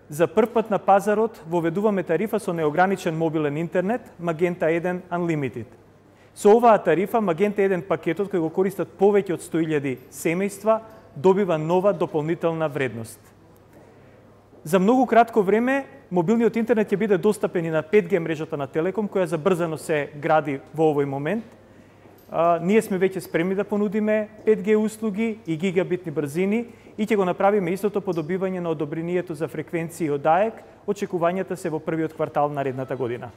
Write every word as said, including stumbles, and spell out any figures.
За прв пат на пазарот воведуваме тарифа со неограничен мобилен интернет Magenta еден Unlimited. Со оваа тарифа Magenta еден пакетот кој го користат повеќе од сто илјади семејства добива нова дополнителна вредност. За многу кратко време мобилниот интернет ќе биде достапен и на пет G мрежата на Телеком, која забрзано се гради во овој момент. А, ние сме веќе спремни да понудиме пет G услуги и гигабитни брзини и ќе го направиме истото по добивање на одобрението за фреквенции од АЕК. Очекувањата се во првиот квартал наредната година.